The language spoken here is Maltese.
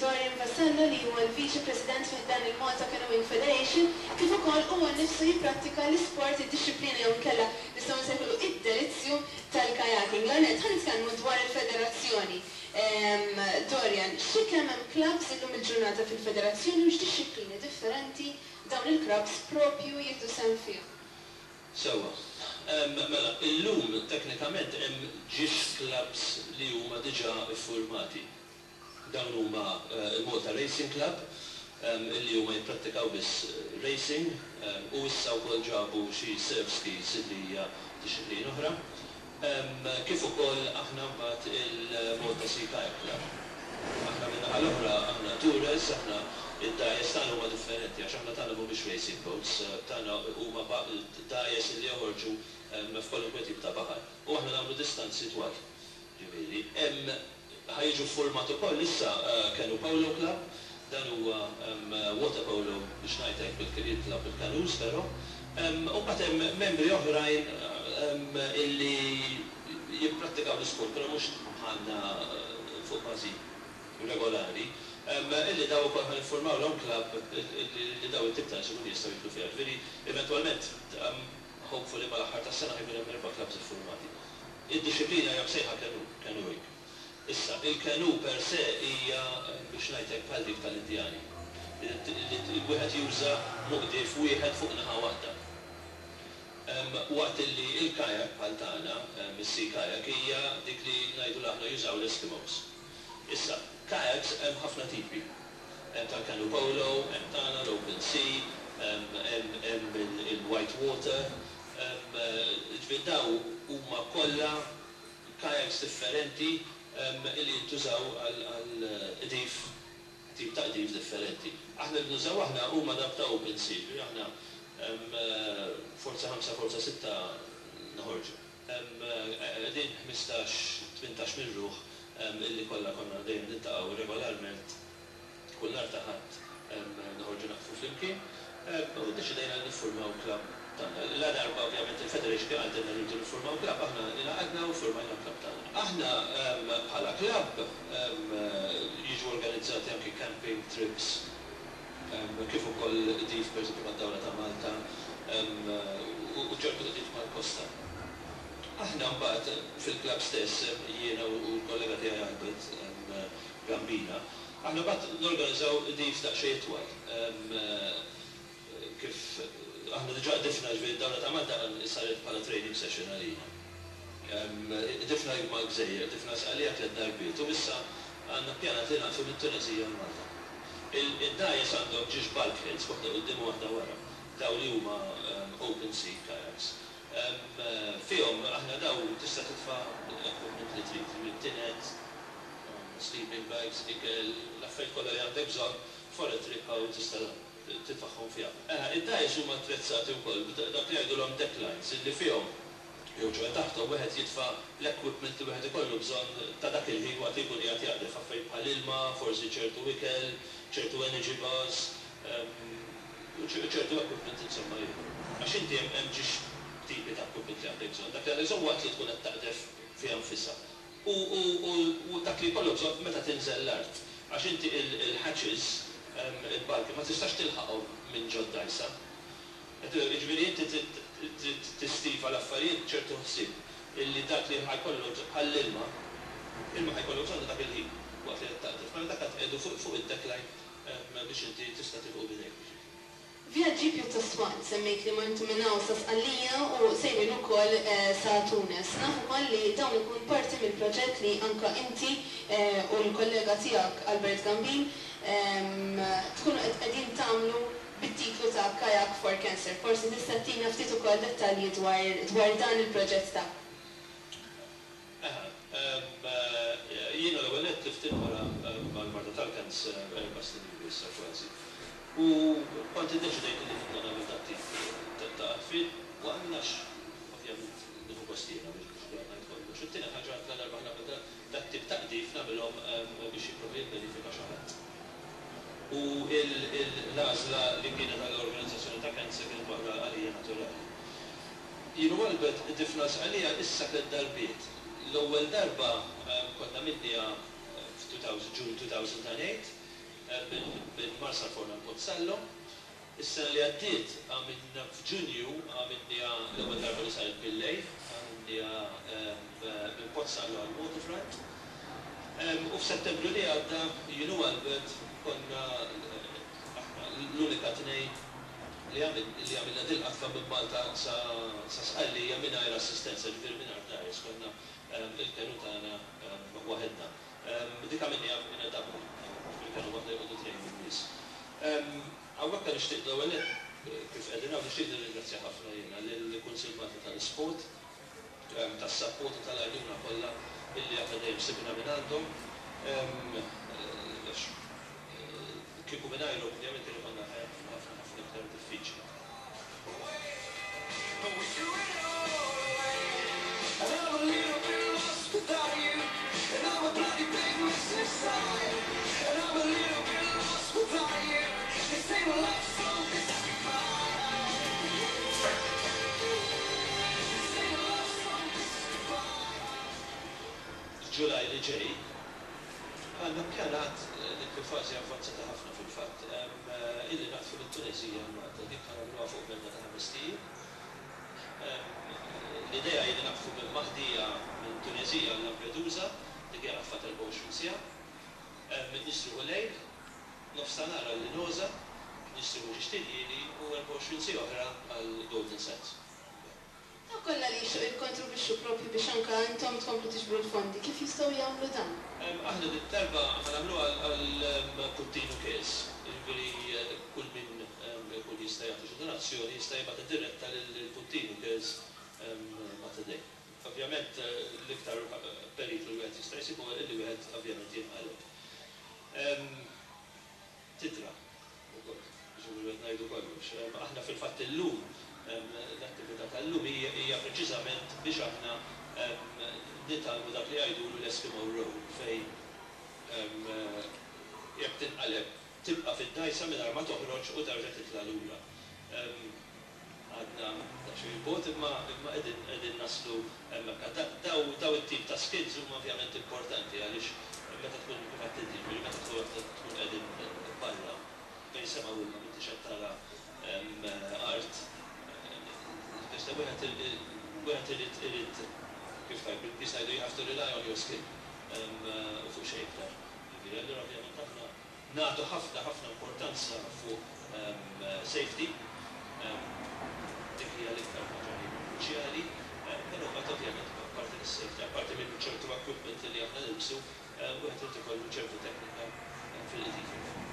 Dorian Vassallo li huwa l-Viċi President fi ħdan il-Malta Canoeing Federation kif ukoll huwa nnifsu jipprattika l-isport, id-dixxiplina jew inkella nistgħu nsejħulu id-delizzju tal-kayaking. L-ewwel nett ħa nitkellmu dwar il-federazzjoni. Dorian, xi kemm hemm clubs illum il-ġurnata fil-federazzjoni u x'dixxiplini differenti dawn il-clubs propju jieħdu sehem fihom? Sewwa. Mela, illum teknikament hemm ġiex clubs li huma diġà ffurmati. Dawn huma l-Malta Racing Club, illi huma jipprattikaw biss racing u issa wkoll ġabu xi surf skis illi hija dixxiplina oħra. Kif ukoll aħna mbagħad il-Malta Sea Kayak Club. Aħna min-naħa l-oħra aħna tourers, aħna id-dgħajjes tagħna huma differenti għax aħna tagħna mhumiex racing boats, tagħna huma dgħajjes li joħorġu f'kwalunkwe tip ta' baħar u aħna nagħmlu distanzi twal. Ġifieri, hemm ħa jiġu ffurmat ukoll issa Canoe Polo Club, dan huwa water polo biex ngħid hekk jitlgħu bil-canoes però. U mbagħad hemm membri oħrajn illi jipprattikaw l-isport però mhux bħalna fuq bażi regolari, illi dawn ukoll ħa niffurmawlhom club illi dawn it-tip ta' nies ikunu jistgħu jidħlu fiha. Ġifieri eventwalment hopefully mal-aħħar tas-sena ħa jkun hemm erba' clubs iffurmati. Id-dixxiplina hija msejħa canoe, canoeing. Issa, il-canoe per se hija, biex ngħid hekk, bħal dik tal-Indjani. Li wieħed juża muqdief wieħed fuq naħa waħda. Waqt illi il-kayak bħal tagħna, is-sea kayak, hija dik li ngħidulha aħna jużaw l-Eskimos. Issa, kayaks hemm ħafna tipi. Hemm tal-canoe polo, hemm tagħna l-open sea, hemm il-white water, Ġifieri dawn huma kollha kayaks differenti li jintużaw għal qdif, tip ta' qdif differenti. Aħna li nużaw aħna huma dawk ta' open sea, ġifieri aħna forza ħamsa, forza sitta noħorġu. Qegħdin 15, 18 minn ruħ illi kollha konna dejjem niltaqgħu regolarment Kull nhar ta' Ħadd noħorġu naqdfu flimkien u ddeċidejna li niffurmaw klabb tagħna. Ladarba ovvjament il-Federation kien qaltilna li rridu niffurmaw klabb, aħna ingħaqadna u ffurmajna l-klabb tagħna. Aħna bħala klabb jiġu organizzati anki camping trips kif ukoll qdif pereżempju mad-Dawra ta' Malta u ċertu qdif mal-kosta. Aħna mbagħad fil-klabb stess, jiena u l-kollega tiegħi Albert Gambina, Aħna mbagħad norganizzaw qdif daqsxejn itwal. Kif aħna diġà qdifna, ġifieri d-Dawra ta' Malta saret bħala training session għalina. Qdifna mal-gżejjer, qdifna Sqallija tliet darbiet u issa għandna ppjanat li naqdfu mit-Tuneżija għal Malta. Id-dgħajjes għandhom ġiex bulkheads, waħda quddiem u waħda wara, dawn li huma open sea kayaks. Fihom aħna dawn tista' titfa' l-equipment li trid, ġifieri tined, sleeping bags, ikel, l-affarijiet kollha li għandek bżonn for a trip hawn tista' titfagħhom fiha. Eħe, id-dgħajjes huma attrezzati wkoll b'dak li jgħidulhom deck lines illi fihom jew ċoe taħthom wieħed jitfa' l-equipment li wieħed ikollu bżonn ta' dak il-ħin waqt li jkun qiegħed jaqdef, affarijiet bħal ilma, forsi ċertu ikel, ċertu energy bars, u ċertu equipment insomma ieħor. Għax inti hemm hemm ġiex tipi ta' equipment li għandek bżonn. Dak li għandek bżonn waqt li tkun qed taqdef fiha nfisha. U u u dak li jkollok bżonn meta tinżel l-art. Għax inti il-hatches, il-balki, ma tistax tilħaqhom minn ġod-dgħajsa. Jiġifieri inti trid trid tistiva l-affarijiet b'ċertu ħsieb illi dak li ħa jkollok bżonn, bħall-ilma, ilma ħa jkollok bżonnu dak il-ħin waqt li qed taqdef. Mela dak qed tqiegħdu fuq fuq id-deckline biex inti tista' tilħqu b'idejk biex. Vjaġġi pjuttost twal, semmejt li mortu minn hawn sa Sqallija u sejrin ukoll sa Tunis. Naf ukoll li dawn ikun parti mill-proġett li anke inti u l-kollega tiegħek Albert Gambin tkunu qed qegħdin tagħmlu bit-titlu ta' Kayak for Cancer. Forsi tista' ttina ftit ukoll dettalji dwar dwar dan il-proġett tagħkom. Eħe. Jiena l-ewwel nett tlift il-mara mal-marda tal-cancer 4 snin ilu issa kważi. U kont iddeċidejt li nibda nagħmel dat-tip ta' qadfiet u għax ovvjament nieħu gost jiena biex biex ngħid kollox. It-tieni ħaġa ladarba ħa nagħmel dat-tip ta' qdif nagħmilhom biex jipprova jibbenifika xi ħadd. U l-għażla li kienet għall-organizzazzjoni ta' cancer kienet waħda għalija naturali. Jien u Albert qdifna Sqallija issa tliet darbiet. L-ewwel darba konna għamilniha f' June 2008. minn Marsalforn għal Pozzallo. Is-sena li għaddiet għamilna f'Ġunju, għamilniha l-ewwel darba li saret bil-lejl, għamilniha minn Pozzallo għal Waterfront. U f'Settembru li għadda jien u Albert konna aħna l-unika tnejn li għamilna dil-qadfa minn Malta sa Sqallija mingħajr assistenza, ġifieri mingħajr dgħajjes, konna il-kenu tagħna waħedna. Dik għamilniha in a double, ġifieri kenu waħda joqogħdu tnejn min-nies. Hawnhekk nixtieq l-ewwel nett, kif qegħdin hawn, nixtieq nirringrazzja ħafna jiena lill-Kunsill Malti tal-Isport tas-sapport u tal-għajnuna kollha illi aħna dejjem sibna mingħandhom għax kieku mingħajrhom ovvjament kien ikollna ħajja ħafna ħafna ħafna iktar diffiċli. F'Ġulaj li ġej, għandna ppjanat, dik fil-fażi avvanzata ħafna fil-fatt, illi naqdfu lit-Tuneżija għal Malta. Dik ħa nagħmluha fuq medda ta' ħamest ijiem. L-idea hi li naqdfu minn Mahdija minn Tuneżija għal Lampedusa, dik hija qadfa ta' 24 siegħa. Nistrieħu lejl, nofstanhar għal Linosa, nistrieħu ġiex t'iljieli u 24 siegħa oħra għal Golden Sands. Dawk kollha li jixtiequ jikkontribwixxu proprju biex anke intom tkomplu tiġbru l-fondi, kif jistgħu jagħmlu dan? Aħna dit-darba ħa nagħmluha għal Puttinu Cares, jiġifieri kull min ikun jista' jagħti xi donazzjoni jista' jibgħatha diretta lil Puttinu Cares Mater Dei. Ovvjament l-iktar periklu li wieħed jista' jsib huwa li wieħed ovvjament jinqaleb. Tidra wkoll, jiġifieri qed ngħidu kollox. Aħna fil-fatt illum, l-attività tal-lum hija preċiżament biex aħna nitgħallmu dak li jgħidulu l-Eskimo roll fejn jekk tinqaleb tibqa' fid-dgħajsa mingħajr ma toħroġ u terġa' titla' lura. Għadna daqsxejn 'il bogħod imma imma qegħdin qegħdin naslu hemmhekk. Daw daw it-tip ta' skills huma ovvjament importanti għaliex meta tkun kif għedt inti, jiġifieri meta tkun qed tkun qegħdin barra bejn sema u ilma m'intix qed tara art, tista' wieħed wieħed irid irid kif tgħid bil-Ingliż ngħidu you have to rely on your skill u fuq xejn iktar. Jiġifieri allura ovvjament aħna Nagħtu ħafna ħafna importanza fuq safety, dik hija l-iktar ħaġa li kruċjali, però mbagħad ovvjament apparti mis-safety, apparti minn ċertu equipment li aħna nilbsu, wieħed irid ikollu ċertu teknika fil-qdif ukoll.